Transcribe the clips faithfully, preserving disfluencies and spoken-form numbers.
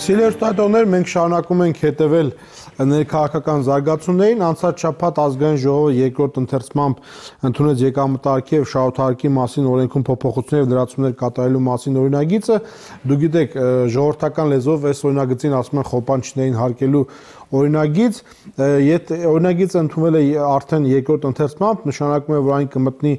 Սիրելի ստուդենտներ, մենք շարունակում ենք հետևել ներքաղաքական զարգացումներին։ Անցած շաբաթ ազգային ժողովը երկրորդ ընթերցմամբ ընդունեց եկամտահարկի եւ շահութահարկի մասին օրենքում փոփոխություններ եւ լրացումներ կատարելու մասին օրինագիծը։ Դուք գիտեք, ժողովրդական լեզվով այս օրինագծին ասում են խոպանչիներին հարկելու օրինագիծ, եթե օրինագիծը ընդունվել է արդեն երկրորդ ընթերցմամբ, նշանակում է, որ այն կմտնի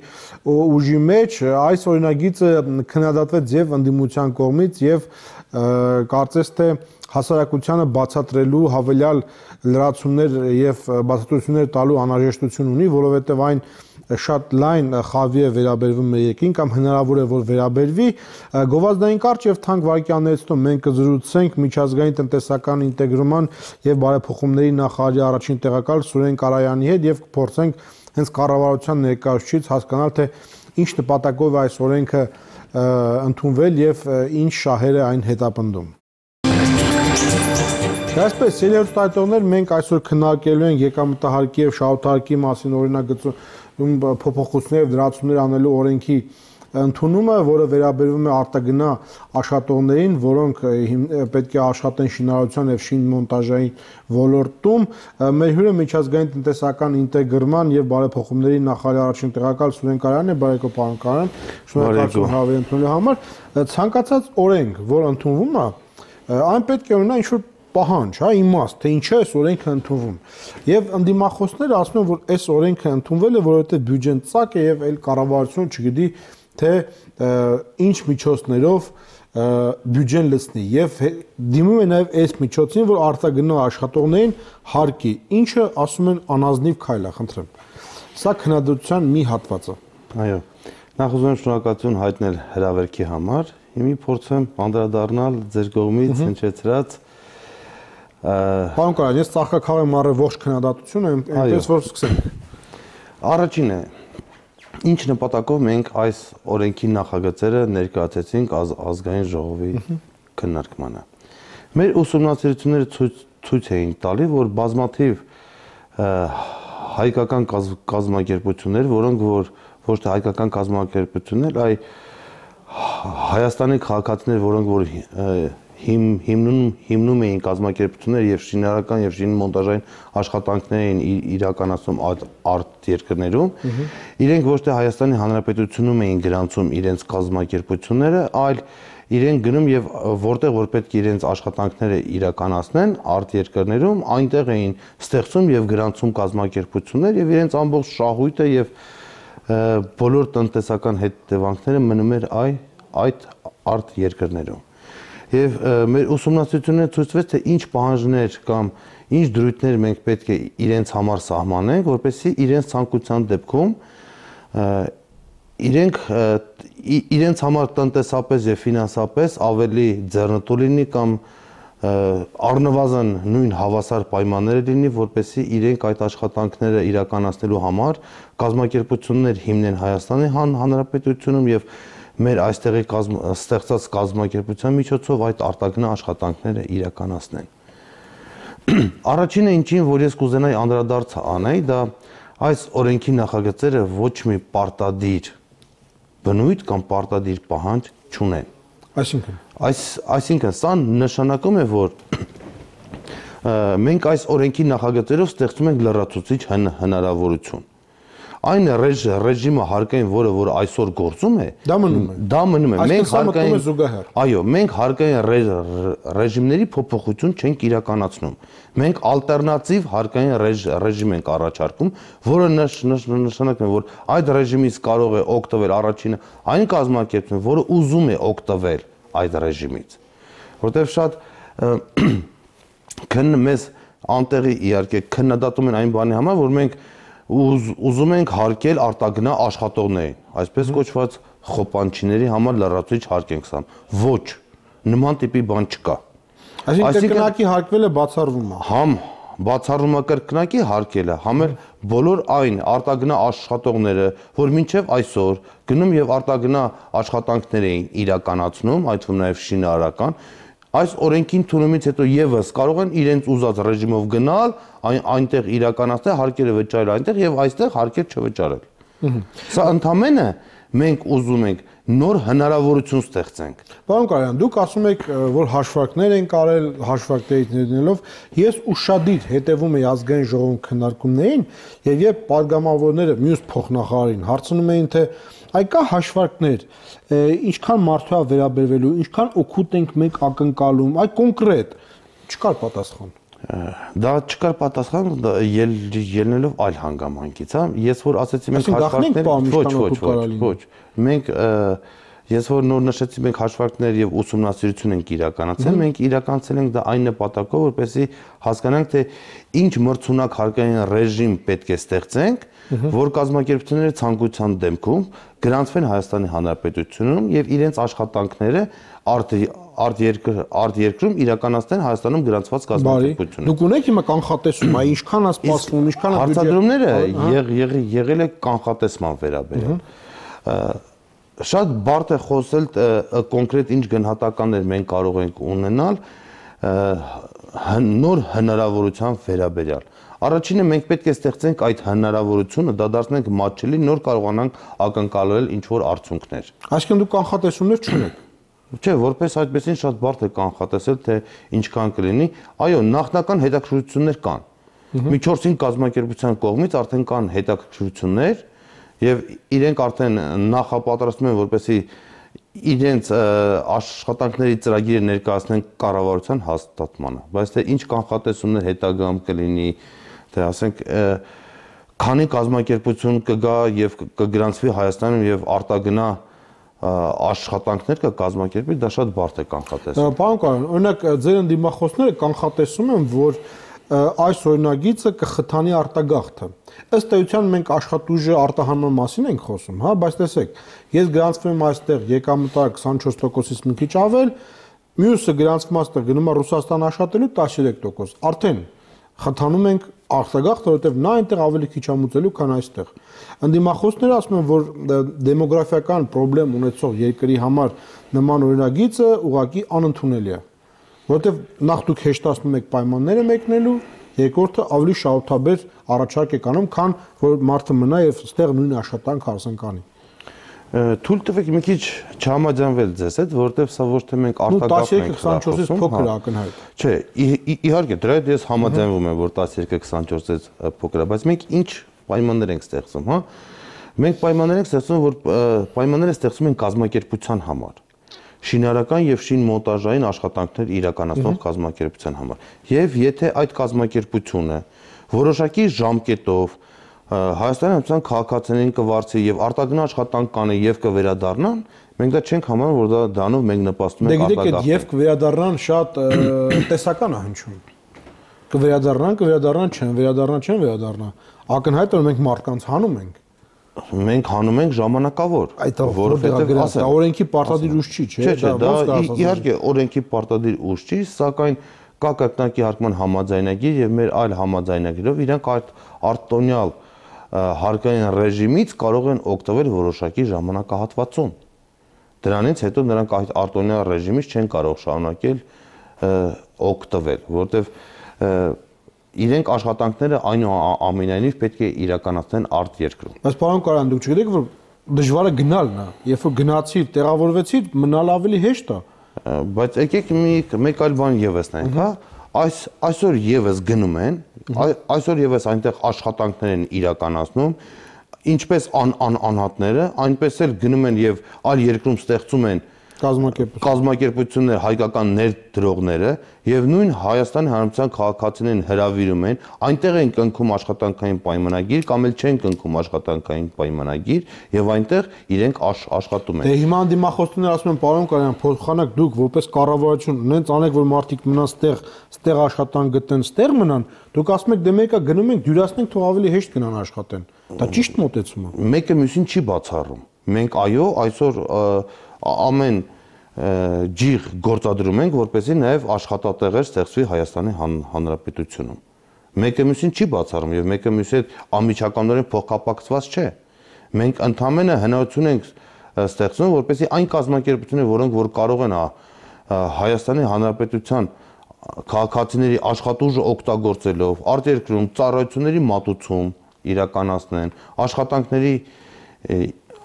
ուժի մեջ, այս օրինագիծը քննադատվեց եւ ընդդիմության կողմից եւ կարծես թե հասարակությանը բացատրելու հավելյալ լրացումներ եւ բացատրություններ տալու անհրաժեշտություն ունի, որովհետեւ այն շատ լայն խավի է վերաբերվում մեր երկրին կամ հնարավոր է որ վերաբերվի գովազդային կարճ եւ թանկ վարքյաններից հետո մենք կզրուցենք միջազգային տնտեսական ինտեգրման եւ բարեփոխումների նախարարի առաջին տեղակալ Սուրեն Կարայանի հետ եւ կփորձենք հենց կառավարության ներկայացուցիչից հասկանալ թե ինչ նպատակով է այս օրենքը ընդունվել եւ ինչ շահեր է այն հետապնդում։ Այսպես, սիրելի ստուդենտներ, մենք այսօր քննարկելու ենք եկամտահարկի եւ շահութահարկի մասին օրինագծում փոփոխություններ եւ դրացումներ անելու օրենքի ընդունումը, որը վերաբերվում է արտագնա աշխատողներին, որոնք պետք է աշխատեն շինարարության եւ շինմոնտաժային ոլորտում։ Մեր հյուրը միջազգային տնտեսական ինտեգրման եւ բարեփոխումների նախարարի առաջին տեղակալ Սուրեն Կարյանն է, բարեկո պարոն Կարյան, շնորհակալություն հավերի ընդունելու համար։ Ցանկացած օրենք, որ ընդունվում է, այն պետք է ունենա ինչ-որ պահանջ, հա, իմաստ, թե ինչի է այս օրենքը ընդունվում։ Եվ ընդդիմախոսները ասում են, որ այս օրենքը ընդունվել է, որովհետեւ բյուջեն ծակ է եւ այլ կառավարությունը չգիտի թե ինչ միջոցներով բյուջեն լցնի եւ դիմում է նաեւ այս միջոցին, որ արտագնա աշխատողներին հարկի, ինչը ասում են անազնիվ քայլ է, խնդրեմ։ Սա քննադատության մի հատված է։ Այո։ Նախ ուզում եմ շնորհակալություն հայտնել հրավերքի համար։ Հիմա փորձեմ անդրադառնալ ձեր կողմից հնչեցրած Պարոն Կարյան, ես ծաղկաքաղեմ առը ողջ քննադատությունը, այնպես որ սկսենք։ Առաջինը ինչ նպատակով մենք այս օրենքի նախագծերը ներկայացեցինք ազգային ժողովի քննարկմանը։ Մեր ուսումնասիրությունները ցույց էին տալի, որ բազմաթիվ հայկական կազմակերպություններ, որոնք որ ոչ թե հայկական կազմակերպություններ, այլ Հայաստանի քաղաքացիներ, որոնք որ հիմնում հիմնում էին կազմակերպություններ եւ շինարարական եւ շինմոնտաժային աշխատանքներ էին իրականացնում արտ երկրներում, իրենք ոչ թե Հայաստանի Հանրապետությունում էին գրանցում իրենց կազմակերպությունները, այլ իրենք գնում եւ որտեղ որ պետք է իրենց աշխատանքները իրականացնեն արտ երկրներում, այնտեղ էին ստեղծում եւ գրանցում կազմակերպություններ եւ իրենց ամբողջ շահույթը եւ բոլոր տնտեսական հետևանքները մնում էր այդ արտ երկրներում։ Եվ մեր ուսումնասիրությունները ցույցվեց, թե ինչ պահանջներ կամ ինչ դրույթներ մենք պետք է իրենց համար սահմանենք, որպեսզի իրենց ցանկության դեպքում իրենք իրենց համար տնտեսապես եւ ֆինանսապես ավելի ձեռնտու լինի կամ առնվազն նույն հավասար պայմանները լինի, որպեսզի իրենք այդ աշխատանքները իրականացնելու համար կազմակերպություններ հիմնեն Հայաստանի Հանրապետությունում եւ մեր այստեղի ստեղծած կազմակերպության միջոցով այդ արտագնա աշխատանքները իրականացնեն։ Առաջինը ինչին, որ ես կուզենայի անդրադարձ անեի, դա այս օրենքի նախագծերը ոչ մի պարտադիր բնույթ կամ պարտադիր պահանջ չունեն։ Այսինքն, այս այսինքն սա նշանակում է, որ մենք այս օրենքի նախագծերով ստեղծում ենք լրացուցիչ հնարավորություն։ Այն ռեժիմը հարկային, որը որ այսօր գործում է, դա մնում է։ Դա մնում է։ Մենք հարկային զուգահեռ։ Այո, մենք հարկային ռեժիմների փոփոխություն չենք իրականացնում։ Մենք ալտերնատիվ հարկային ռեժիմ ենք առաջարկում, որը նշանակում է, որ այդ ռեժիմից կարող է օգտվել առաջինը այն կազմակերպությունը, որը ուզում է օգտվել այդ ռեժիմից։ Որտեղ շատ քնն մեզ անտեղի իհարկե քննադատում են այն բանի համար, որ մենք ուզում ենք հարկել արտագնա աշխատողներին, այսպես կոչված խոպանչիների համար լրացուցիչ հարկ ենք սամ։ Ոչ, նման տիպի բան չկա։ Այսինքն կրկնակի հարկվելը բացառվում է։ Համ բացառումը կրկնակի հարկելը, համ էլ բոլոր այն արտագնա աշխատողները, որ մինչև այսօր գնում եւ արտագնա աշխատանքներ էին իրականացնում, այդ թվում նաեւ շինարարական, այս օրենքին ընդունումից հետո եւս կարող են իրենց ուզած ռեժիմով գնալ, այնտեղ իրականացնել հարկերը վճարել այնտեղ եւ այստեղ հարկեր չվճարել։ Սա ընդամենը մենք ուզում ենք նոր հնարավորություն ստեղծենք։ Պարոն Կարյան, դուք ասում եք, որ հաշվարկներ են կարել, հաշվարկներից ներդնելով, ես ուշադիր հետևում եի ազգային ժողովում քննարկումներին, եւ երբ падգամավորները մյուս փոխնախարարին հարցնում էին, թե այ կա հաշվարկներ, ինչքան մարդու է վերաբերվելու, ինչքան օգուտ ենք մենք ակնկալում, այ կոնկրետ, չկար պատասխան։ Դա չկար պատասխան ելնելով այլ հանգամանքից, հա։ Ես որ ասեցի մենք հաշվարկներ, ոչ, ոչ, ոչ, ոչ։ Մենք ես որ նոր նշեցի մենք հաշվարկներ եւ ուսումնասիրություն ենք իրականացել, մենք իրականացել ենք դա այն նպատակով, որպեսզի հասկանանք, թե ինչ մրցունակ հարկային ռեժիմ պետք է ստեղծենք, որ կազմակերպությունները ցանկության դեպքում գրանցվեն Հայաստանի Հանրապետությունում եւ իրենց աշխատանքները արտերկրում իրականացնեն Հայաստանում գրանցված կազմակերպությունները։ Դուք ունեք հիմա կանխատեսում, այ ինչքան է սպասվում, ինչքան է հարցադրումները եղել է կանխատեսման վերաբերյալ։ Շատ բարդ է խոսել կոնկրետ ինչ գնահատականներ մենք կարող ենք ունենալ նոր հնարավորության վերաբերյալ։ Առաջինը մենք պետք է ստեղծենք այդ հնարավորությունը, դա դարձնենք մատչելի, նոր կարողանանք ակնկալել ինչ-որ արդյունքներ։ Այսինքն դուք կանխատեսումներ չունեք։ Չէ, որպես այդպեսին շատ բարդ է կանխատեսել, թե ինչքան կլինի։ Այո, նախնական հետաքրքրություններ կան։ Մի չորս-հինգ կազմակերպության կողմից արդեն կան հետաքրքրություններ եւ իրենք արդեն նախապատրաստում են, որպեսզի իրենց աշխատանքների ծրագիրը ներկայացնեն կառավարության հաստատմանը, բայց թե ինչ կանխատեսումներ հետագայում կլինի, թե ասենք քանի կազմակերպություն կգա եւ կգրանցվի Հայաստանում եւ արտագնա աշխատանքներ կկազմակերպի, դա շատ բարդ է կանխատեսել։ Պարոն Կարյան, օրինակ ձեր ընդդիմախոսները կանխատեսում են, որ այս օրինագիծը կխթանի արտագաղթը։ Ըստ էության մենք աշխատուժի արտահանման մասին ենք խոսում, հա, բայց տեսեք, ես գրանցվում եմ այստեղ եկամտը քսանչորս տոկոսից մի քիչ ավել, մյուսը գրանցվում այստեղ գնում է Ռուսաստան աշխատելու տասնյոթ տոկոս։ Արդեն խթանում ենք արտագաղթը, որովհետև նա այնտեղ ավելի քիչ ամուծելու, քան այստեղ։ Ընդդիմախոսները ասում են, որ դեմոգրաֆիական խնդրեմ ունեցող երկրի համար նման օրինագիծը ուղղակի անընդունելի է, որովհետև նախ դուք հեշտացնում եք պայմանները մեկնելու, երկրորդը ավելի շահութաբեր առաջարկ եք անում, քան որ մարդը մնա եւ այստեղ նույն աշխատանք հարսան կանի։ Թույլ տվեք մի քիչ չհամաձայնվել ձեզ հետ, որովհետև սա ոչ թե մենք արտագաղթ ենք քսանչորսից փոքր է ակնհայտ։ Չէ, իհարկե դրա հետ ես համաձայնվում եմ, որ տասնյոթ քսանչորսից փոքր է, բայց մենք ինչ պայմաններ ենք ստեղծում, հա։ Մենք պայմաններ ենք ստեղծում, որ պայմանները ստեղծում են կազմակերպության համար։ Շինարական եւ շինմոնտաժային աշխատանքներ իրականացնող կազմակերպության համար։ Եվ եթե այդ կազմակերպությունը որոշակի ժամկետով Հայաստանի Հանրապետության քաղաքացիներին կվարձի եւ արտագնա աշխատանք կանի եւ կվերադառնան, մենք դա չենք համարում, որ դա դրանով մենք նպաստում ենք արտագաղթին։ Դե գիտեք, եւ կվերադառնան շատ տեսական է հնչում։ Կվերադառնան, կվերադառնան չեն, վերադառնան չեն, վերադառնան։ Ակնհայտ է, որ մենք մարդկանց հանում ենք։ Մենք հանում ենք ժամանակավոր, որովհետեւ ասա օրենքի պարտադիր ուժ չի, չէ՞։ Չէ, դա իհարկե օրենքի պարտադիր ուժ չի, սակայն կա կրկնակի հարկման համաձայնագիր եւ մեր այլ համաձայնագիրով իրանք այդ արտոնյալ հարկային ռեժիմից կարող են օգտվել որոշակի ժամանակահատվածում։ Դրանից հետո նրանք այդ արտոնյալ ռեժիմից չեն կարող շարունակել օգտվել, որովհետեւ իրենք աշխատանքները այնուամենայնիվ պետք է իրականացնեն արտերկրում։ Բայց պարոն Կարյան, դուք չգիտեք, որ դժվարը գնալն է, երբ որ գնացիր, տեղավորվեցիր, մնալ ավելի հեշտ է։ Բայց եկեք մի մեկ այլ բան եւս նայենք, հա, այս այսօր եւս գնում են, այսօր եւս այնտեղ աշխատանքներ են իրականացնում, ինչպես անհատները, այնպես էլ գնում են եւ այլ երկրում ստեղծում են կազմակերպություններ, հայկական ներդրողները եւ նույն Հայաստանի Հանրապետության քաղաքացիներին հրավիրում են, այնտեղ են կնքում աշխատանքային պայմանագիր կամ էլ չեն կնքում աշխատանքային պայմանագիր եւ այնտեղ իրենք աշխատում են։ Դե հիմա դիմախոսները ասում են, պարոն Կարյան, փոխանակ դուք որպես կառավարություն ունենց անեք, որ մարդիկ մնան ստեղ, ստեղ աշխատանք գտնեն, ստեղ մնան, դուք ասում եք դե մեկը գնում ենք, դյուրացնենք, թող ավելի հեշտ գնան աշխատեն։ Դա ճիշտ մոտեցում է։ Մեկը մյուսին չի բացառում։ Մենք այո, այսօր ամեն ջիղ գործադրում ենք, որպեսզի նաև աշխատատեղեր ստեղծվի Հայաստանի Հանրապետությունում։ Մեկը մյուսին չի բացառում եւ մեկը մյուսի հետ անմիջականորեն փոխկապակցված չէ։ Մենք ընդհանրապես հնարավորություն ենք ստեղծում, որպեսզի այն կազմակերպությունները, որոնք որ կարող են Հայաստանի Հանրապետության քաղաքացիների աշխատուժը օգտագործելով արտերկրում ծառայությունների մատուցում իրականացնեն, աշխատանքների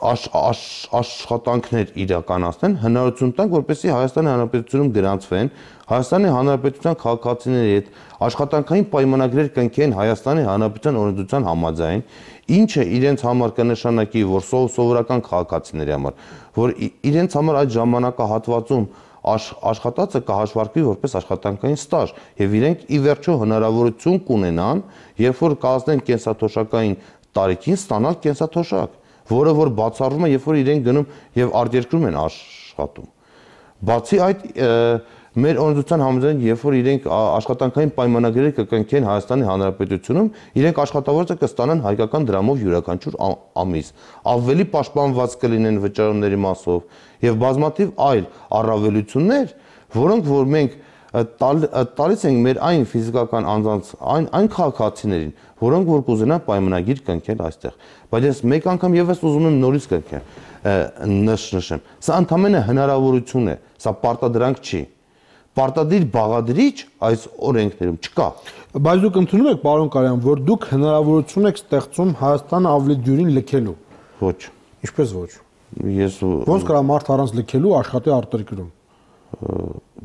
աշխատանքներ իրականացնեն, հնարավորություն տանք, որպեսզի Հայաստանի Հանրապետությունում գրանցվեն, Հայաստանի Հանրապետության քաղաքացիների հետ աշխատանքային պայմանագրեր կնքեն Հայաստանի Հանրապետության օրենսդրության համաձայն, ինչը իրենց համար կնշանակի, որ սովորական քաղաքացիների համար, որ իրենց համար այդ ժամանակահատվածում աշխատածը կհաշվարկվի որպես աշխատանքային ստաժ եւ իրենք ի վերջո հնարավորություն կունենան, երբ որ կազմեն կենսաթոշակային տարիքին ստանալ կենսաթոշակ, որը որ բացառվում է, երբ որ իրենք գնում եւ արտերկրում են աշխատում։ Բացի այդ, մեր օրենսդրության համաձայն, երբ որ իրենք աշխատանքային պայմանագրեր կկնքեն Հայաստանի Հանրապետությունում, իրենք աշխատավորը կստանան հայկական դրամով յուրաքանչյուր ամիս, ավելի պաշտպանված կլինեն վճարումների մասով եւ բազմաթիվ այլ առավելություններ, որոնք որ մենք տալիս ենք մեր այն ֆիզիկական անձանց, այն այն քաղաքացիներին, որոնք որ կուզենան պայմանագիր կնքել այստեղ։ Բայց ես մեկ անգամ եւս ուզում եմ նորից կնքեմ, նշեմ։ Սա ընդհանրապես հնարավորություն է, սա պարտադրանք չի։ Պարտադիր բաղադրիչ այս օրենքներում չկա։ Բայց դուք ընդունում եք, պարոն Կարյան, որ դուք հնարավորություն եք ստեղծում Հայաստանը ավելի դյուրին լքելու։ Ոչ։ Ինչպես ոչ։ Ես ոնց կարա մարդ առանց լքելու աշխատի արտերկրում։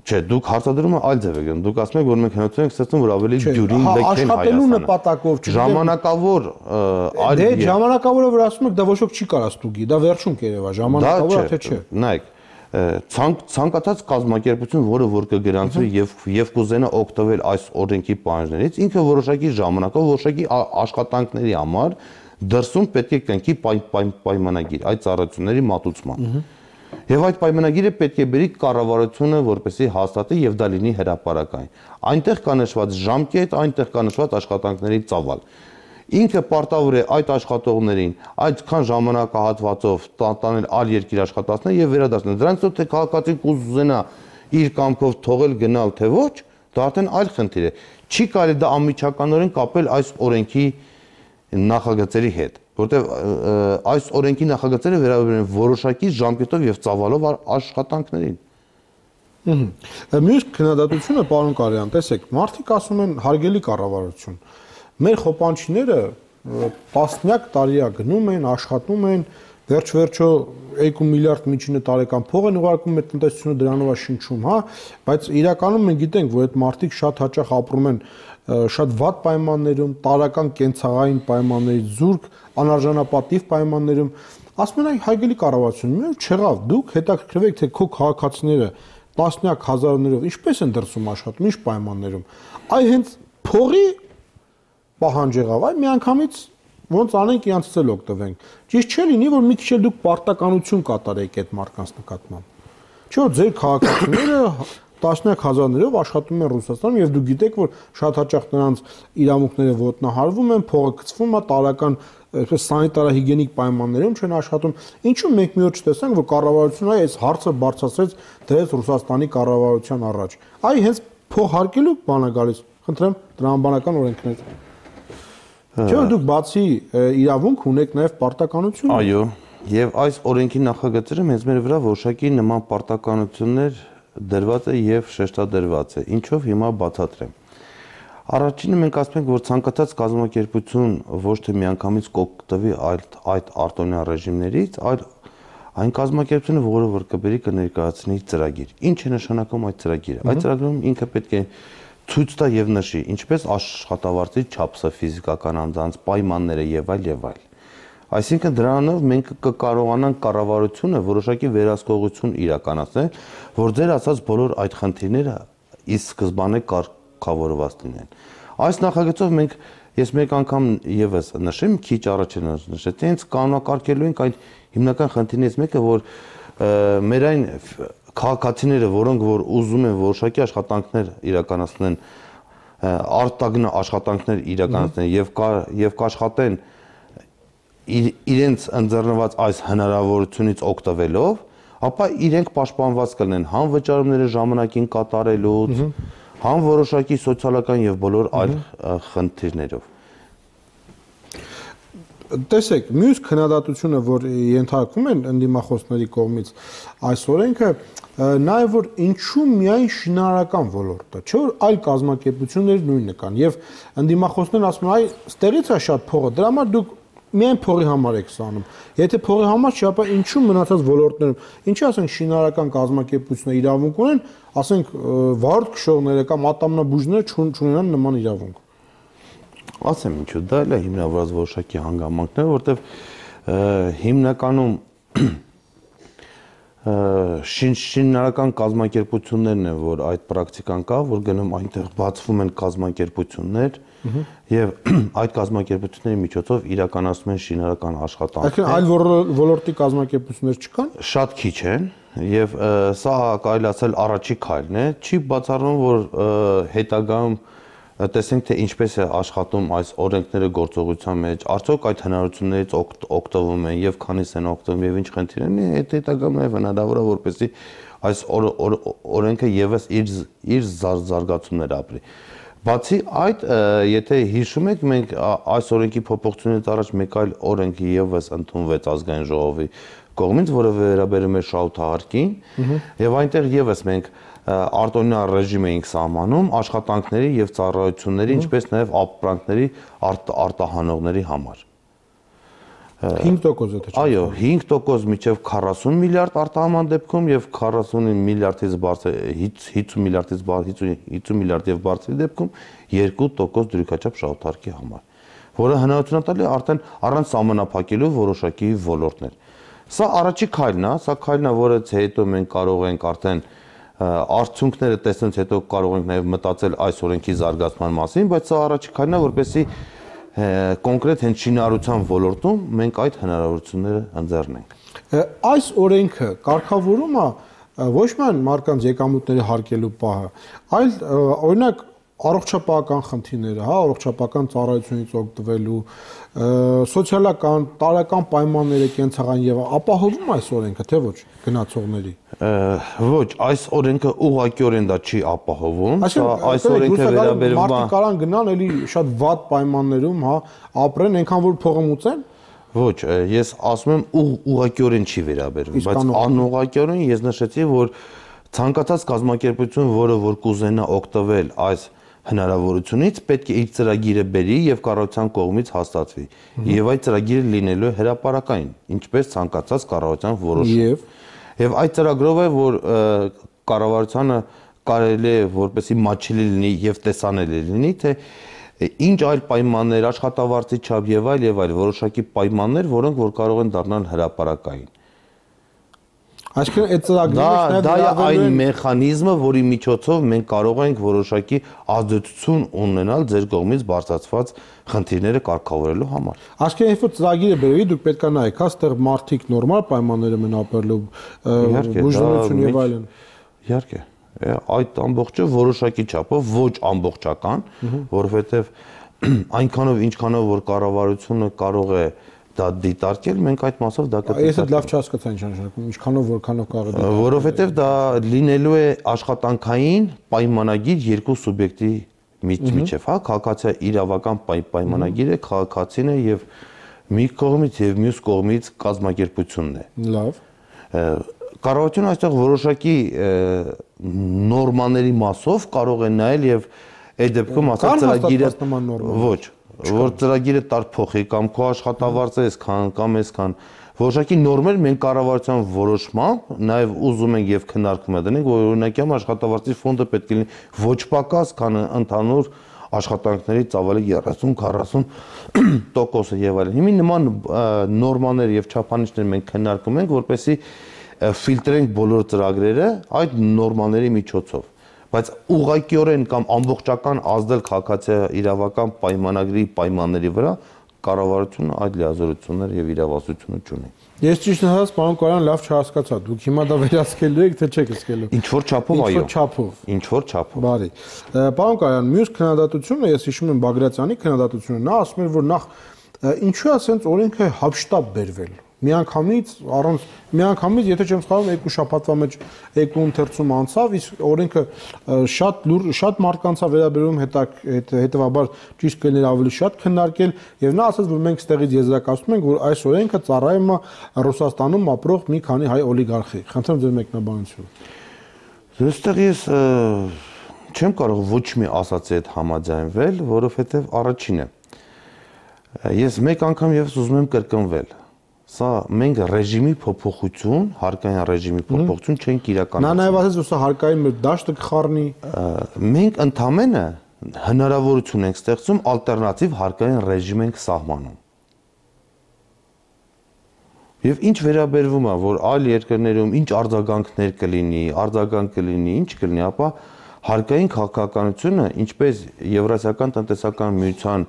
Չէ, դուք հարցադրումը այլ ձև եք գնում։ Դուք ասում եք, որ մենք հնարավորություն ենք ստեղծում, որ ավելի դյուրին լքեն Հայաստանը։ Աշխատելու նպատակով, ժամանակավոր այլ դե ժամանակավորը որ ասում եք, դա ոչ ոք չի կարա ստուգի, դա վերջում կերևա, ժամանակավորը թե չէ։ Նայեք, ցանկացած կազմակերպություն, որը որ կգրանցվի եւ եւ կուզենա օգտվել այս օրենքի պահանջներից, ինքը որոշակի ժամանակով, որոշակի աշխատանքների համար դրսում պետք է կնքի պայմանագիր այդ ծառայությունների մատուցման։ Եվ այդ պայմանագիրը պետք է բերի կառավարությունը, որպեսզի հաստատի եւ դա լինի հրապարակային։ Այնտեղ կա նշված ժամկետ, այնտեղ կա նշված աշխատանքների ծավալ։ Ինքը պարտավոր է այդ աշխատողներին այդքան ժամանակահատվածով տանել այլ երկիր աշխատացնել եւ վերադարձնել։ Դրանից հետո թե քաղաքացին կուզենա իր կամքով թողել գնալ թե ոչ, դա արդեն այլ խնդիր է։ Չի կարելի դա անմիջականորեն կապել այս օրենքի նախագծերի հետ, որտեղ այս օրենքի նախագծերը վերաբերում են որոշակի ժամկետով եւ ծավալով աշխատանքներին։ Մյուս քննադատությունը, պարոն Կարյան, տեսեք, մարդիկ ասում են հարգելի կառավարություն, մեր խոպանչիները տասնյակ տարիա գնում են, աշխատում են, վերջ-վերջո երկու միլիարդ միջինը տարեկան փող են ուղարկում մեր տնտեսությունը դրանով է շնչում, հա, բայց իրականում մենք գիտենք, որ այդ մարդիկ շատ հաճախ ապրում են շատ վատ պայմաններում, տարական կենցաղային պայմաններից զուրկ, անարժանապատիվ պայմաններում, ասում են, այ հարգելի կառավարություն, մի օր չեղավ, դուք հետաքրքրվեք, թե քո քաղաքացիները տասնյակ հազարներով ինչպես են դրսում աշխատում, ինչ պայմաններում։ Այ հենց փողի պահանջ եղավ, այ միանգամից ոնց անենք իրանցից էլ օգտվենք։ Ճիշտ չէ լինի, որ մի քիչ էլ դուք պարտականություն կատարեք այդ մարդկանց նկատմամբ։ Չէ՞ որ ձեր քաղաքացիները տասնյակ հազարներով աշխատում են Ռուսաստանում եւ դուք գիտեք, որ շատ հաճախ նրանց իրավունքները ոտնահարվում են, փողը գցվում է, տարական այսպես սանիտարահիգիենիկ պայմաններում չեն աշխատում։ Ինչու մենք մի օր չտեսանք, որ կառավարությունը այս հարցը բարձրացրեց դրեց Ռուսաստանի կառավարության առաջ։ Այ հենց փող հարկելու բան է գալիս։ Խնդրեմ, տրամաբանական օրենքներ։ Չէ՞ դուք բացի իրավունք ունեք նաև պարտականություն։ Այո, եւ այս օրենքի նախագծերը մեզ մեր վրա որոշակի նման պարտականություններ դրված է եւ շեշտադրված է։ Ինչով հիմա բացատրեմ։ Առաջինը մենք ասում ենք, որ ցանկացած կազմակերպություն ոչ թե միանգամից կօգտվի այդ այդ արտոնյա ռեժիմներից, այլ այն կազմակերպությունը, որը որ կբերի կներկայացնի ծրագիր։ Ինչ է նշանակում այդ ծրագիրը։ Այդ ծրագրում ինքը պետք է ցույց տա եւ նշի, ինչպես աշխատավարձի չափսը, ֆիզիկական անձանց պայմանները եւ այլ եւ այլ։ Այսինքն դրանով մենք կկարողանանք կառավարությունը որոշակի վերահսկողություն իրականացնել, որ ձեր ասած բոլոր այդ խնդիրները ի սկզբանե կարգավորված լինեն։ Այս նախագծով մենք ես մեկ անգամ եւս նշեմ, քիչ առաջ նշեցի, հենց կանոնակարգելու ենք այդ հիմնական խնդիրներից մեկը, որ մեր այն քաղաքացիները, որոնք որ ուզում են որոշակի աշխատանքներ իրականացնեն, արտագնա աշխատանքներ իրականացնեն եւ եւ կաշխատեն իրենց ընձեռնված այս հնարավորությունից օգտվելով, ապա իրենք պաշտպանված կլինեն համ վճարումները ժամանակին կատարելուց, համ որոշակի սոցիալական եւ բոլոր այլ խնդիրներով։ Տեսեք, մյուս քննադատությունը, որ ենթարկվում են ընդդիմախոսների կողմից այս օրենքը, նաև որ ինչու միայն շինարարական ոլորտը, չէ՞ որ այլ կազմակերպություններ նույնը կան եւ ընդդիմախոսներն ասում են, այ ստեղից է շատ փողը, դրա համար դուք միայն փողի համար եք սանում։ Եթե փողի համար չի, ապա ինչու մնացած ոլորտներում, ինչի ասենք շինարարական կազմակերպությունները իրավունք ունեն, ասենք վարորդ քշողները կամ ատամնաբուժները չունենան նման իրավունք։ Ասեմ ինչու, դա էլ է հիմնավորված որոշակի հանգամանքներ, որտեղ հիմնականում շինարարական կազմակերպություններն են, որ այդ պրակտիկան կա, որ գնում այնտեղ բացվում են կազմակերպություններ եւ այդ կազմակերպությունների միջոցով իրականացնում են շինարարական աշխատանքներ։ Այսինքն այլ ոլորտի կազմակերպություններ չկան։ Շատ քիչ են եւ սա կարելի ասել առաջի քայլն է, չի բացառվում, որ հետագայում տեսնենք թե ինչպես է աշխատում այս օրենքները գործողության մեջ, արդյոք այդ հնարավորություններից օգտվում են եւ քանիս են օգտվում եւ ինչ խնդիր են, այդ հետագայում նաեւ հնարավոր է որպեսզի այս օրենքը եւս իր իր զարգացումներ ապրի։ Բացի այդ, եթե հիշում եք, մենք այս օրենքի փոփոխությունից առաջ մեկ այլ օրենք եւս ընդունվեց ազգային ժողովի կողմից, որը վերաբերում է շահութահարկին, եւ այնտեղ եւս մենք արտոնյա ռեժիմ էինք սահմանում աշխատանքների եւ ծառայությունների, ինչպես նաեւ ապրանքների արտահանողների համար։ հինգ տոկոս է թե չէ։ Այո, հինգ տոկոս մինչև քառասուն միլիարդ արտահանման դեպքում եւ քառասուն միլիարդից բարձր հինգ միլիարդից բարձր հինգ միլիարդ եւ բարձրի դեպքում երկու տոկոս դրույքաչափ շահութարկի համար, որը հնարավորություն է տալի արդեն առանց սահմանափակելու որոշակի ոլորտներ։ Սա առաջի քայլն է, սա քայլն է, որից հետո մենք կարող ենք արդեն արդյունքները տեսնելուց հետո կարող ենք նաև մտածել այս օրենքի զարգացման մասին, բայց սա առաջի քայլն է, որպեսզի կոնկրետ հենց շինարարության ոլորտում մենք այդ հնարավորությունները ընձեռնենք։ Այս օրենքը կարգավորում է ոչ միայն մարդկանց եկամուտների հարկելու պահը, այլ օրինակ առողջապահական խնդիրները, հա, առողջապահական ծառայությունից օգտվելու, սոցիալական, տարրական պայմանները կենցաղային եւ ապահովում այս օրենքը, թե ոչ գնացողների։ Ոչ, այս օրենքը ուղղակիորեն դա չի ապահովում, այս օրենքը վերաբերվում է մարդիկ կարան գնան էլի շատ վատ պայմաններում, հա, ապրեն, այնքան որ փողը մուծեն։ Ոչ, ես ասում եմ ուղղակիորեն չի վերաբերվում, բայց անուղղակիորեն ես նշեցի, որ ցանկացած կազմակերպություն, որը որ կուզենա օգտվել այս հնարավորությունից, պետք է իր ծրագիրը բերի եւ կառավարության կողմից հաստատվի։ Եվ այդ ծրագիրը լինելու է հրապարակային, ինչպես ցանկացած կառավարության որոշում։ Եվ եւ այդ ծրագրով է, որ կառավարությանը կարելի է որպեսի մատչելի լինի եւ տեսանելի լինի, թե ինչ այլ պայմաններ, աշխատավարձի չափ եւ այլ եւ այլ որոշակի պայմաններ, որոնք որ կարող են դառնալ հրապարակային։ Այսինքն այդ ծրագրերը դա է այն մեխանիզմը, որի միջոցով մենք կարող ենք որոշակի ազդեցություն ունենալ ձեր կողմից բարձրացված խնդիրները կարգավորելու համար։ Այսինքն երբ որ ծրագիրը բերվի, դուք պետք է նայեք, հա, ստեղ մարդիկ նորմալ պայմաններում են ապրելու, բուժողություն եւ այլն։ Իհարկե, այդ ամբողջը որոշակի չափով ոչ ամբողջական, որովհետեւ այնքանով ինչքանով որ կառավարությունը կարող է դա դիտարկել, մենք այդ մասով դա կդիտարկենք։ Ես էլ լավ չհասկացա ինչ նշանակում, ինչքանով որքանով կարող է դիտարկել։ Որովհետև դա լինելու է աշխատանքային պայմանագիր երկու սուբյեկտի միջև, հա, քաղաքացիական իրավական պայմանագիր է, քաղաքացին է եւ մի կողմից եւ մյուս կողմից կազմակերպությունն է։ Լավ։ Կառավարությունը այստեղ որոշակի նորմաների մասով կարող է նայել եւ այդ դեպքում ասած ծրագիրը ոչ որ ծրագիրը տար փոխի կամ քո աշխատավարձը այսքան կամ այսքան որոշակի նորմեր մենք կառավարության որոշմամբ նաև ուզում ենք եւ քննարկում ենք, որ օրինակյամ աշխատավարձի ֆոնդը պետք է լինի ոչ պակաս, քան ընդհանուր աշխատանքների ծավալի երեսուն քառասուն տոկոսը եւ այլն։ Հիմա նման նորմաներ եւ չափանիշներ մենք քննարկում ենք, որպեսզի ֆիլտրենք բոլոր ծրագրերը այդ նորմաների միջոցով։ Բայց ուղղակիորեն կամ ամբողջական ազդել քաղաքացիական իրավական պայմանագրի պայմանների վրա կառավարությունը այդ լիազորություններ եւ իրավասությունը չունի։ Ես ճիշտ ասած, պարոն Կորյան, լավ չհասկացա։ Դուք հիմա դա վերահսկելու եք, թե չեք հսկելու։ Ինչ որ չափով, այո։ Ինչ որ չափով։ Ինչ որ չափով։ Բարի։ Պարոն Կորյան, մյուս քննադատությունը, ես հիշում եմ Բագրատյանի քննադատությունը, նա ասում էր, որ նախ ինչու է ասենց օրենքը հապշտապ բերվել։ Միանգամից առանց միանգամից եթե չեմ սխալվում երկու շաբաթվա մեջ երկու ընթերցում անցավ, իսկ օրենքը շատ լուր շատ մարդկանց է վերաբերում, հետևաբար ճիշտ կլիներ ավելի շատ քննարկել եւ նա ասաց, որ մենք ստեղից եզրակացնում ենք, որ այս օրենքը ծառայում է Ռուսաստանում ապրող մի քանի հայ օլիգարխի։ Խնդրեմ ձեր մեկնաբանությունը։ Այստեղ ես չեմ կարող ոչ մի ասացի հետ համաձայնվել, որովհետեւ առաջինը Ես մեկ անգամ եւս ուզում եմ կրկնվել։ Սա մենք ռեժիմի փոփոխություն, հարկային ռեժիմի փոփոխություն չենք իրականացնում։ Նա նաև ասաց, որ սա հարկային մեր դաշտը կխառնի։ Մենք ընդամենը հնարավորություն ենք ստեղծում ալտերնատիվ հարկային ռեժիմ ենք սահմանում։ Եվ ինչ վերաբերվում է, որ այլ երկրներում ինչ արձագանքներ կլինի, արձագանք կլինի, ինչ կլինի, ապա հարկային քաղաքականությունը, ինչպես Եվրասիական տնտեսական միության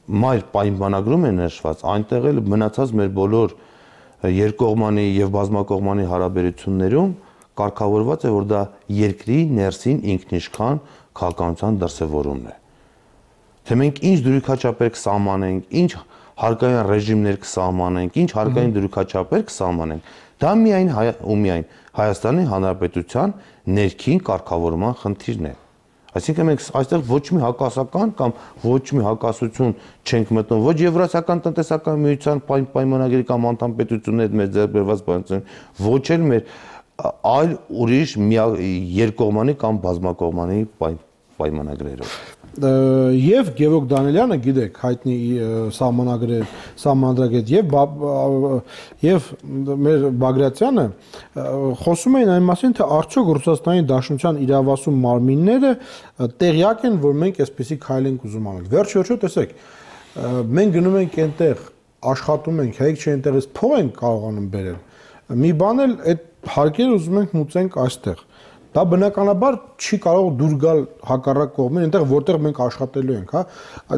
մայր պայմանագրում է նշված, այնտեղ էլ մնացած մեր բոլոր երկկողմանի եւ բազմակողմանի հարաբերություններում կարգավորված է, որ դա երկրի ներսին ինքնիշխան քաղաքականության դրսևորումն է։ Թե մենք ինչ դրույքաչափեր կսահմանենք, ինչ հարկային ռեժիմներ կսահմանենք, ինչ հարկային դրույքաչափեր կսահմանենք, դա միայն ու միայն Հայաստանի Հանրապետության ներքին կարգավորման խնդիրն է։ Այսինքն մենք այստեղ ոչ մի հակասական կամ ոչ մի հակասություն չենք մտնում, ոչ Եվրասիական տնտեսական միության պայմանագրի կամ անդամ պետությունների մեր ձեռքբերված պայմանագրի, ոչ էլ մեր այլ ուրիշ երկկողմանի կամ բազմակողմանի պայմանագրերով։ Եվ Գևորգ Դանիելյանը, գիտեք, հայտնի սահմանագրեր, սահմանադրագետ եւ եւ մեր Բագրատյանը խոսում էին այն մասին, թե արդյոք Ռուսաստանի Դաշնության իրավասու մարմինները տեղյակ են, որ մենք այսպեսի քայլ ենք ուզում անել։ Վերջ-վերջո տեսեք, մենք գնում ենք այնտեղ, աշխատում ենք, հայք չէ այնտեղից փող ենք կարողանում բերել։ Մի բան էլ այդ հարկերը ուզում ենք մուծենք այստեղ։ Դա բնականաբար չի կարող դուր գալ հակառակ կողմին, այնտեղ որտեղ մենք աշխատելու ենք, հա։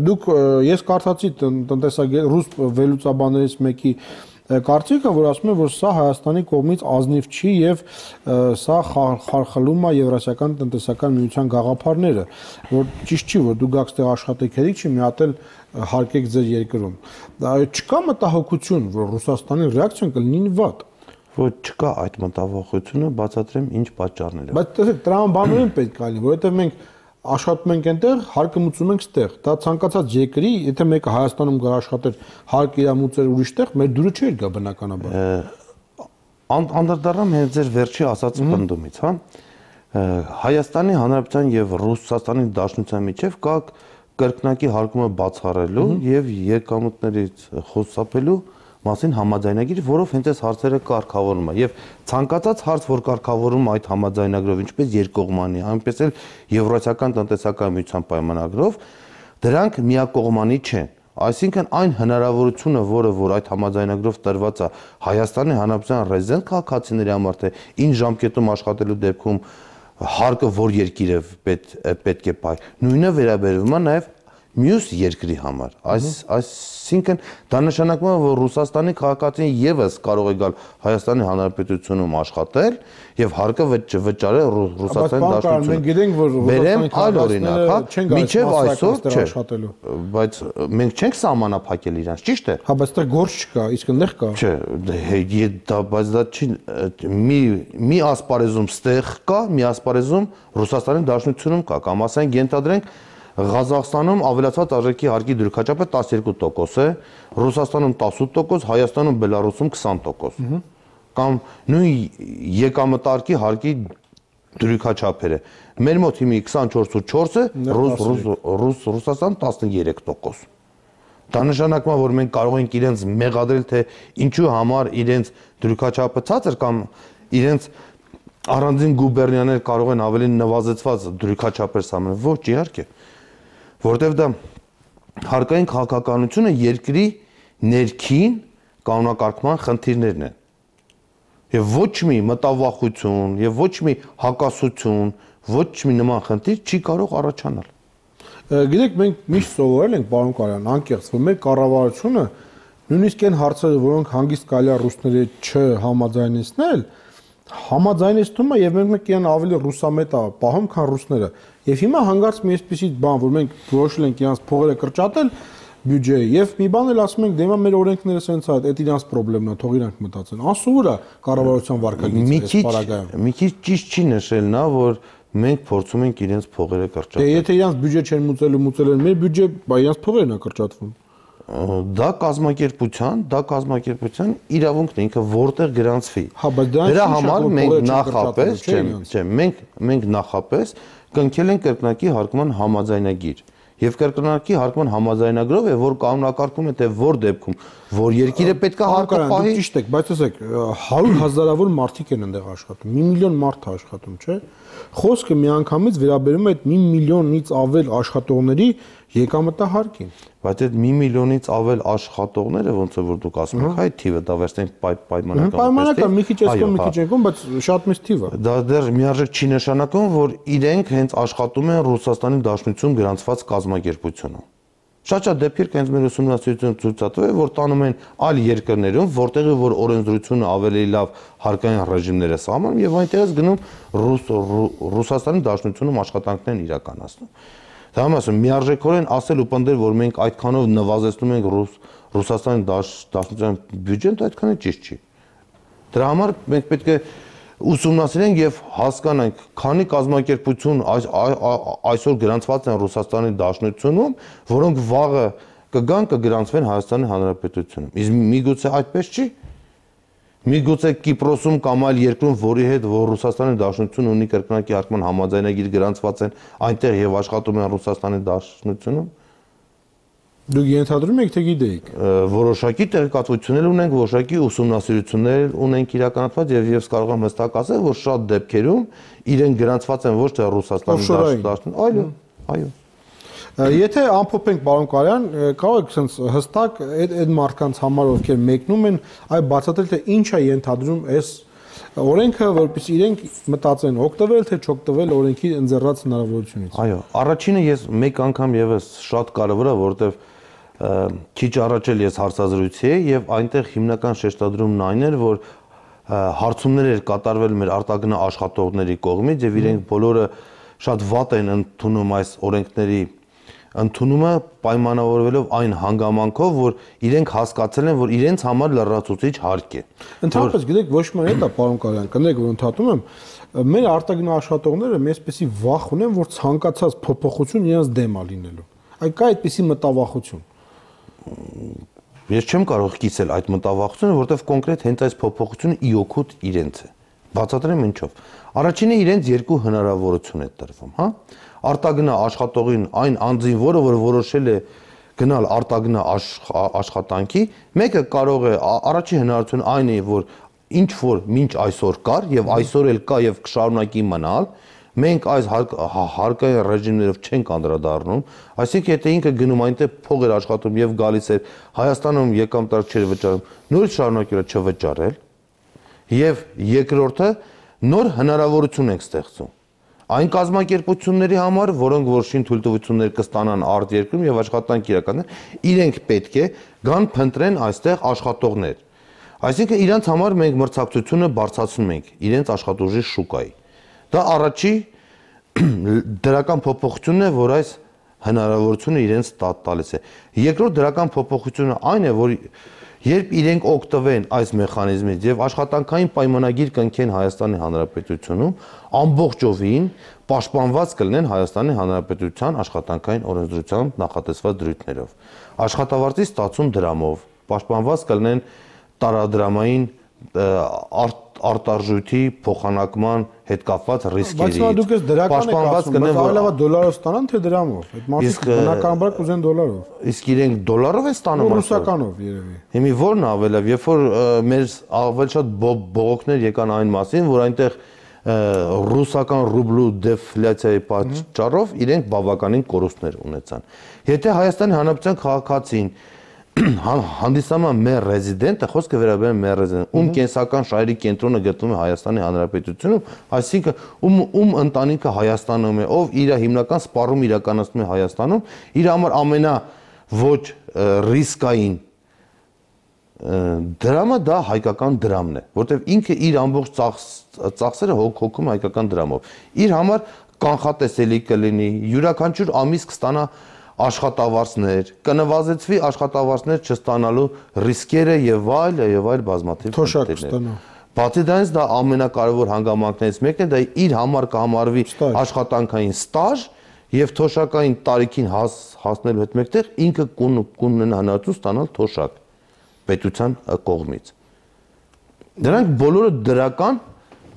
Դուք ես կարդացի տնտեսագետ ռուս վերլուծաբաններից մեկի կարծիքը, որ ասում է, որ սա Հայաստանի կողմից ազնիվ չի եւ սա խարխլում է Եվրասիական տնտեսական միության գաղափարները, որ ճիշտ չի, որ դուք գաք ստեղ աշխատեք, հերիք չի, մի հատ էլ հարկեք ձեր երկրում։ Դա չկա մտահոգություն, որ Ռուսաստանի ռեակցիան կլինի վատ։ Ոչ չկա այդ մտավախությունը, բացատրեմ ինչ պատճառներ։ Բայց տեսեք, տրամաբանորեն պետք է լինի, որովհետև մենք աշխատում ենք այնտեղ, հարկը մուծում ենք ստեղ։ Դա ցանկացած երկրի, եթե մեկը Հայաստանում գար աշխատեր, հարկը իր մուծեր ուրիշտեղ, մեր դուրը չէր գա բնականաբար։ Անդրադառնամ հենց ձեր վերջի ասած պնդումից, հա։ Հայաստանի Հանրապետության եւ Ռուսաստանի Դաշնության միջեւ կա կրկնակի հարկումը բացառելու եւ եկամուտներից խոսապելու մասին համաձայնագիր, որով հենց այս հարցերը կարգավորում է եւ ցանկացած հարց, որ կարգավորում այդ համաձայնագրով, ինչպես երկկողմանի, այնպես էլ Եվրասիական տնտեսական միության պայմանագրով, դրանք միակողմանի չեն։ Այսինքն այն հնարավորությունը, որը որ այդ համաձայնագրով տրված է Հայաստանի Հանրապետության ռեզիդենտ քաղաքացիների համար, թե ինչ ժամկետում աշխատելու դեպքում հարկը որ երկիրը պետք է պայ, նույնը վերաբերվում է նաեւ մյուս երկրի համար, այս այսինքն դա նշանակում է, որ Ռուսաստանի քաղաքացին եւս կարող է գալ Հայաստանի Հանրապետությունում աշխատել եւ հարկը վճարել Ռուսաստանի Դաշնությունում։ Մենք գիտենք, որ Ռուսաստանի քաղաքացիները մինչեւ այսօր աշխատելու, բայց մենք չենք սահմանափակել իրանց, ճիշտ է։ Հա, բայց դա գործ չկա, իսկ այնտեղ կա։ Չէ, դա բայց դա չի մի մի ասպարեզում ստեղ կա, մի ասպարեզում Ռուսաստանի Դաշնությունում կա, կամ ասենք ենթադրենք Ղազախստանում ավելացված արժեքի հարկի դրույքաչափը տասներկու տոկոս է, Ռուսաստանում տասութ տոկոս, Հայաստանում, Բելարուսում քսան տոկոս։ Կամ նույն եկամտարկի հարկի դրույքաչափերը։ Մեր մոտ հիմի քսանչորս ու չորս է, ռուս Ռուսաստան տասներեք տոկոս։ Դա նշանակում է, որ մենք կարող ենք իրենց մեղադրել, թե ինչու համար իրենց դրույքաչափը ցածր կամ իրենց առանձին գուբերնիաներ կարող են ավելի նվազեցված դրույքաչափեր սահմանել։ Ոչ, իհարկե։ Որտեվ դա հարկային քաղաքականությունը երկրի ներքին կանոնակարգման խնդիրներն են։ Եվ ոչ մի մտավախություն, եւ ոչ մի հակասություն, ոչ մի նման խնդիր չի կարող առաջանալ։ Գիտեք, մենք միշտ սովորել ենք, պարոն Կարյան, անկեղծ, որ մեր կառավարությունը նույնիսկ այն հարցերը, որոնք հանգիստ կարելի է ռուսների չհամաձայնեցնել, համաձայնեցնում է եւ մենք իրեն ավելի ռուսամետ է պահում, քան ռուսները։ Եվ հիմա հանգարց մի այսպիսի բան, որ մենք որոշել ենք իրանց փողերը կրճատել բյուջեի եւ մի բան էլ ասում ենք, դե մեր օրենքները սենց է, այդ իրանց խնդիրն է, թող իրանք մտածեն։ Անսովոր է կառավարության վարկագիծը պարագայում։ Մի քիչ ճիշտ չի նշել նա, որ մենք փորձում ենք իրենց փողերը կրճատել։ Դե եթե իրանց բյուջե չեն մուծելու, մուծել են մեր բյուջե, բա իրանց փողերն է կրճատվում։ Դա կազմակերպության, դա կազմակերպության իրավունքն է, ինքը որտեղ գրանցվի։ Հա, բայց դրա համար մենք նախապես, չէ, չէ, մենք մենք նախապես կնքել ենք կրկնակի հարկման համաձայնագիր եւ կրկնակի հարկման համաձայնագրով է, որ կանոնակարգում է թե որ դեպքում որ երկիրը պետք է հարկը պահի։ Ճիշտ է, բայց ասեք, հարյուր հազարավոր մարդիկ են այնտեղ աշխատում, մի միլիոն մարդ է աշխատում, չէ՞։ Խոսքը միանգամից վերաբերում է այդ մի միլիոնից ավել աշխատողների եկամտահարկին։ Բայց այդ մի միլիոնից ավել աշխատողները ոնց է որ դուք ասում եք, այդ թիվը դա վերցնենք պայմանական։ Պայմանական մի քիչ այսքան մի քիչ եկում, բայց շատ մեծ թիվ է։ Դա դեռ միարժեք չի նշանակում, որ իրենք հենց աշխատում են Ռուսաստանի Դաշնություն գրանցված կազմակերպությունում։ Շատ-շատ դեպքեր հենց մեր ուսումնասիրությունը ցույց է տվել, որ տանում են այլ երկրներում, որտեղ որ օրենսդրությունը ավելի լավ հարկային ռեժիմներ է սահմանում եւ այնտեղից գնում Ռուսաստանի Դաշնությունում աշխատանքներ են իրականացնում։ Դա ասում միարժեքորեն ասել ու պնդել, որ մենք այդքանով նվազեցնում ենք ռուս Ռուսաստանի Դաշնության բյուջեն, դա այդքան է ճիշտ չի։ Դրա համար մենք պետք է ուսումնասիրենք եւ հասկանանք, քանի կազմակերպություն այսօր գրանցված են Ռուսաստանի Դաշնությունում, որոնք վաղը կգան կգրանցվեն Հայաստանի Հանրապետությունում։ Իսկ միգուցե այդպես չի։ Միգուցե Կիպրոսում կամ այլ երկրում, որի հետ որ Ռուսաստանի Դաշնությունը ունի կրկնակի հարկման համաձայնագիր գրանցված են, այնտեղ եւ աշխատում են Ռուսաստանի Դաշնությունում։ Դուք ենթադրում եք թե գիտեիք։ Որոշակի տեղեկատվություններ ունենք, որոշակի ուսումնասիրություններ ունենք իրականացված եւ ես կարող եմ հստակ ասել, որ շատ դեպքերում իրենք գրանցված են ոչ թե Ռուսաստանի Դաշնությունում, այլ այո։ Եթե ամփոփենք պարոն Կարյան, կարող եք sense հստակ այդ այդ մարդկանց համար ովքեր մեկնում են, այ բացատրել թե ինչ է ենթադրում այս օրենքը, որպեսզի իրենք մտածեն օգտվել թե չօգտվել օրենքի ընձեռած հնարավորությունից։ Այո, առաջինը ես մեկ անգամ եւս շատ կարևոր է, որովհետեւ քիչ առաջ էլ ես հարցազրույցի էի եւ այնտեղ հիմնական շեշտադրումն այն էր, որ հարցումներ էր կատարվել մեր արտագնա աշխատողների կողմից եւ իրենք բոլորը շատ վատ են ընդունում այս օրենքների ընդունումը պայմանավորվելով այն հանգամանքով, որ իրենք հասկացել են, որ իրենց համար լրացուցիչ հարկ է։ Ընդհանրապես գիտեք, ոչ միայն դա, պարոն Կարյան, կներեք, որ ընդհատում եմ, մեր արտագնա աշխատողները մեզպեսի վախ ունեն, որ ցանկացած փոփոխություն իրենց դեմ է լինելու։ Այ կա այդպիսի մտավախություն։ Ես չեմ կարող կիսել այդ մտավախությունը, որովհետև կոնկրետ հենց այս փոփոխությունը ի օգուտ իրենց է։ Բացատրեմ ինչով։ Առաջինը իրենց երկու հնարավորություն է տրվում, հա։ Արտագնա աշխատողին այն անձին, որը որ որոշել է գնալ արտագնա աշխատանքի, մեկը կարող է առաջին հնարավորությունը այն է, որ ինչ որ մինչ այսօր կար եւ այսօր էլ կա եւ կշարունակի մնալ, մենք այս հարկային ռեժիմներով չենք անդրադառնում, այսինքն եթե ինքը գնում այնտեղ փող էր աշխատում եւ գալիս էր Հայաստանում եկամտար չէր վճարում, նորից շարունակել է չվճարել եւ երկրորդը նոր հնարավորություն ենք ստեղծում այն կազմակերպությունների համար, որոնք որ շին թույլտվություններ կստանան արտերկրում եւ աշխատանք իրականացնեն, իրենք պետք է գան փնտրեն այստեղ աշխատողներ։ Այսինքն իրանց համար մենք մրցակցությունը բարձրացնում ենք իրենց աշխատուժի շուկայի։ Դա առաջի դրական փոփոխությունն է, որ այս հնարավորությունը իրենց տալիս է։ Երկրորդ դրական փոփոխությունը այն է, որ երբ իրենք օգտվեն այս մեխանիզմից եւ աշխատանքային պայմանագիր կնքեն Հայաստանի Հանրապետությունում, ամբողջովին պաշտպանված կլինեն Հայաստանի Հանրապետության աշխատանքային օրենսդրությամբ նախատեսված դրույթներով։ Աշխատավարձի ստացում դրամով, պաշտպանված կլինեն տարադրամային արտարժույթի փոխանակման հետ կապված ռիսկերի։ Բայց դուք ես դրական եք ասում, բայց ավելի լավ դոլարով ստանան թե դրամով։ Այդ մարդիկ բնականաբար կուզեն դոլարով։ Իսկ իրենք դոլարով են ստանում այսօր։ Ռուսականով երևի։ Հիմի ո՞րն է ավելի լավ, երբ որ մեր ավելի շատ բողոքներ եկան այն մասին, որ այնտեղ ռուսական ռուբլու դեֆլյացիայի պատճառով իրենք բավականին կորուստներ ունեցան։ Եթե Հայաստանի Հանրապետության քաղաքացին հանդիսանում մեր ռեզիդենտը, խոսքը վերաբերում է մեր ռեզիդենտ, ում կենսական շահերի կենտրոնը գտնվում է Հայաստանի Հանրապետությունում, այսինքն ում ում ընտանիքը Հայաստանում է, ով իր հիմնական սպառում իրականացնում է Հայաստանում, իր համար ամենա ոչ ռիսկային դրամը դա հայկական դրամն է, որտեղ ինքը իր ամբողջ ծախսերը հոգում է հայկական դրամով։ Իր համար կանխատեսելի կլինի, յուրաքանչյուր ամիս կստանա աշխատավարձներ, կնվազեցվի աշխատավարձներ չստանալու ռիսկերը եւ այլ եւ այլ բազմաթիվ թոշակներ։ Բացի դրանից դա ամենակարևոր հանգամանքներից մեկն է, դա իր համար կհամարվի աշխատանքային ստաժ եւ թոշակային տարիքին հասնելու հետ մեկտեղ ինքը կունենա հնարավորություն ստանալ թոշակ պետության կողմից։ Դրանք բոլորը դրական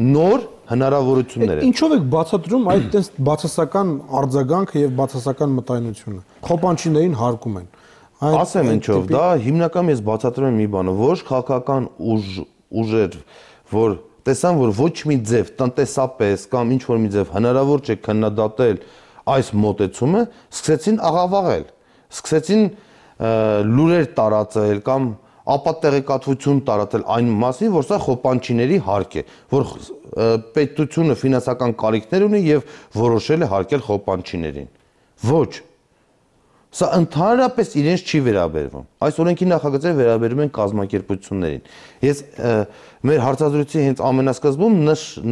նոր հնարավորություններ են։ Ինչով եք բացատրում այդ տես բացասական արձագանքը եւ բացասական մտայնությունը։ Խոպանչիներին հարկում են։ Ասեմ ինչով, դա հիմնական ես բացատրում եմ մի բանը, ոչ քաղաքական ուժ ուժեր, որ տեսան, որ ոչ մի ձև տնտեսապես կամ ինչ որ մի ձև հնարավոր չէ քննադատել այս մոտեցումը, սկսեցին աղավաղել, սկսեցին լուրեր տարածել կամ ապատեղեկատվություն տարածել այն մասին, որ սա խոպանչիների հարկ է, որ պետությունը ֆինանսական կարիքներ ունի եւ որոշել է հարկել խոպանչիներին։ Ոչ։ Սա ընդհանրապես իրենց չի վերաբերվում։ Այս օրենքի նախագծերը վերաբերում են կազմակերպություններին։ Ես մեր հարցազրույցի հենց ամենասկզբում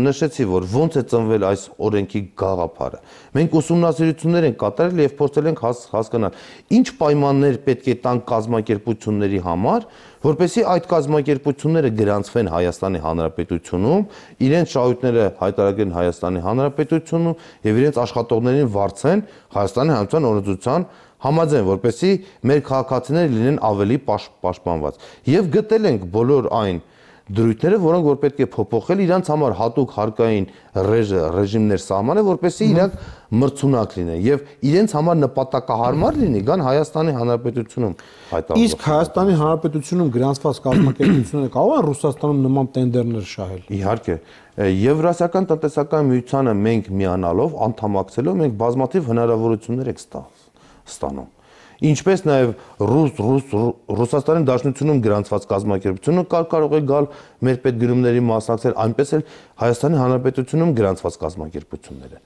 նշեցի, որ ոնց է ծնվել այս օրենքի գաղափարը։ Մենք ուսումնասիրություններ ենք կատարել եւ փորձել ենք հասկանալ, ինչ պայմաններ պետք է տան կազմակերպությունների համար, որպեսզի այդ կազմակերպությունները գրանցվեն Հայաստանի Հանրապետությունում, իրենց շահույթները հայտարարեն Հայաստանի Հանրապետությունում եւ իրենց աշխատողներին վարձեն Հայաստանի Հանրապետության օրենսդրության համաձայն, որպեսզի մեր քաղաքացիները լինեն ավելի պաշտպանված։ Եվ գտել ենք բոլոր այն դրույթները, որոնք որ պետք է փոփոխել իրանց համար հատուկ հարկային ռեժիմներ սահմանել, որպեսզի իրանք մրցունակ լինեն եւ իրենց համար նպատակահարմար լինի, գան Հայաստանի Հանրապետությունում հայտարարել։ Իսկ Հայաստանի Հանրապետությունում գրանցված կազմակերպությունները կարող են Ռուսաստանում նման տենդերներ շահել։ Իհարկե, Եվրասիական տնտեսական միությանը մենք միանալով, անդամակցելով, մենք բազմաթիվ հնարավորություններ ենք ստանում։ Ինչպես նաև ռուս ռուս Ռուսաստանի Դաշնությունում գրանցված կազմակերպությունը կարող է գալ մեր պետգրումների մասնակցել, այնպես էլ Հայաստանի Հանրապետությունում գրանցված կազմակերպությունները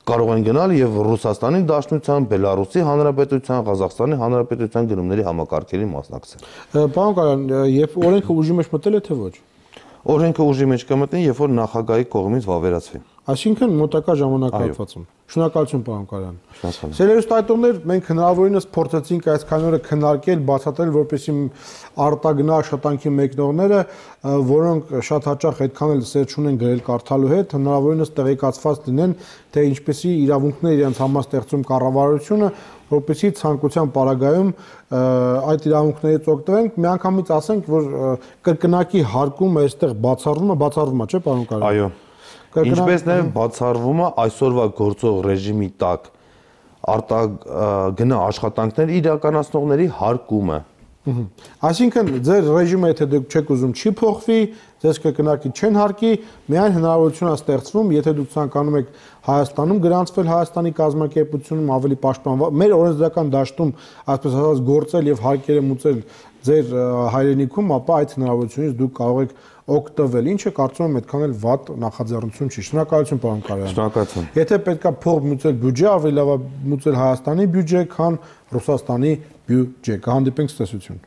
կարող են գնալ եւ Ռուսաստանի Դաշնության, Բելարուսի Հանրապետության, Ղազախստանի Հանրապետության գնումների համակարգերի մասնակցել։ Պարոն Կարյան, երբ օրենքը ուժի մեջ մտել է թե ոչ։ Օրենքը ուժի մեջ կմտնի, երբ որ նախագահի կողմից վավերացվի։ Այսինքն մոտակա ժամանակահատվածում։ Շնորհակալություն, պարոն Կարյան։ Շնորհակալ։ Սերերստայտողներ, մենք հնարավորինս փորձեցինք այս քայլերը քննարկել, բացատրել, որպեսզի արտագնա աշխատանքի մեկնողները, որոնք շատ հաճախ այդքան էլ սեր չունեն գրել կարդալու հետ, հնարավորինս տեղեկացված լինեն, թե ինչպեսի իրավունքներ իրենց համաստեղծում կառավարությունը, որպեսզի ցանկության պարագայում այդ իրավունքներից օգտվենք, միանգամից ասենք, որ կրկնակի հարկում այստեղ բացառվում է, բացառվում է, չէ՞, պարոն Կարյան։ Այո։ Ինչպես նաև բացառվում է այսօրվա գործող ռեժիմի տակ արտագնա աշխատանքներ իրականացնողների հարկումը։ Այսինքն ձեր ռեժիմը եթե դուք չեք ուզում չի փոխվի, ձեզ կրկնակի չեն հարկի, միայն հնարավորություն է ստեղծվում, եթե դուք ցանկանում եք Հայաստանում գրանցվել Հայաստանի կազմակերպությունում ավելի պաշտպանված, մեր օրենսդրական դաշտում, այսպես ասած, գործել եւ հարկերը մուծել ձեր հայրենիքում, ապա այդ հնարավորությունից դուք կարող եք օգտվել, ինչը կարծում եմ այդքան էլ վատ նախաձեռնություն չի։ Շնորհակալություն, պարոն Կարյան։ Շնորհակալություն։ Եթե պետքա փող մուծել բյուջե, ավելի լավ է մուծել Հայաստանի բյուջե, քան Ռուսաստանի բյուջե։ Կհանդիպենք ցտեսություն։